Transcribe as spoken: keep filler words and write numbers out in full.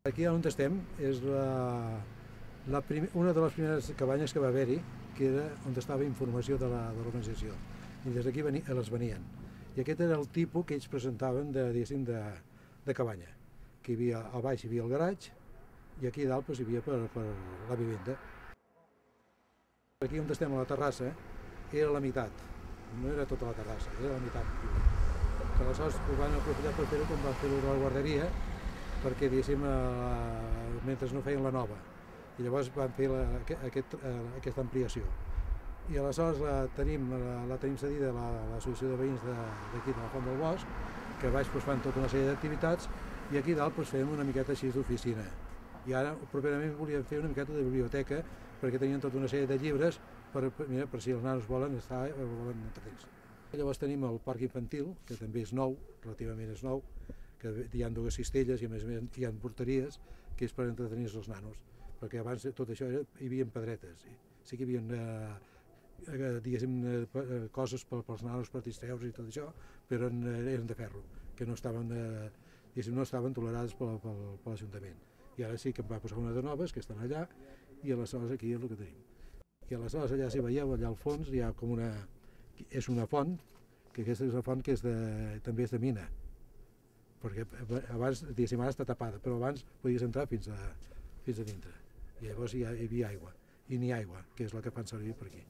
Aquí on estem és la, la prim, una de les primeres cabanyes que va haver-hi, que era on estava informació de l'organització, i des d'aquí veni, les venien. I aquest era el tipus que ells presentaven de, de, de cabanya, que hi havia, al baix hi havia el garatge, i aquí dalt doncs, hi havia per, per la vivenda. Aquí on estem a la terrassa era la meitat, no era tota la terrassa, era la meitat. Que aleshores ho van aprofitar per fer-ho com van fer-ho de la guarderia, perquè diguéssim, eh, mentre no feien la nova, i llavors van fer la, aquest, eh, aquesta ampliació. I aleshores la tenim, la, la tenim cedida a l'associació de veïns d'aquí, de, de la Font del Bosc, que baix doncs, fan tota una sèrie d'activitats, i aquí dalt doncs, fem una miqueta així d'oficina. I ara, properament, volíem fer una miqueta de biblioteca, perquè tenien tota una sèrie de llibres per, mira, per si els nanos volen estar o volen entretenir-se. Llavors tenim el parc infantil, que també és nou, relativament és nou, que hi ha dues cistelles i a més a més hi ha porteries, que és per entretenir els nanos, perquè abans tot això era, hi havia pedretes, sí, sí que hi havia eh, diguéssim, eh, coses per, pels nanos per distreure i tot això, però eren, eren de ferro, que no estaven, eh, diguéssim, no estaven tolerades per, per, per l'Ajuntament. I ara sí que em va posar una de noves, que estan allà, i aleshores aquí és el que tenim. I aleshores allà, si veieu, allà al fons hi ha com una... és una font, que aquesta és una font que és de, també és de mina, perquè abans, diguéssim, ara està tapada, però abans podies entrar fins a, fins a dintre. I llavors hi, ha, hi havia aigua, i n'hi ha aigua, que és la que fan servir per aquí.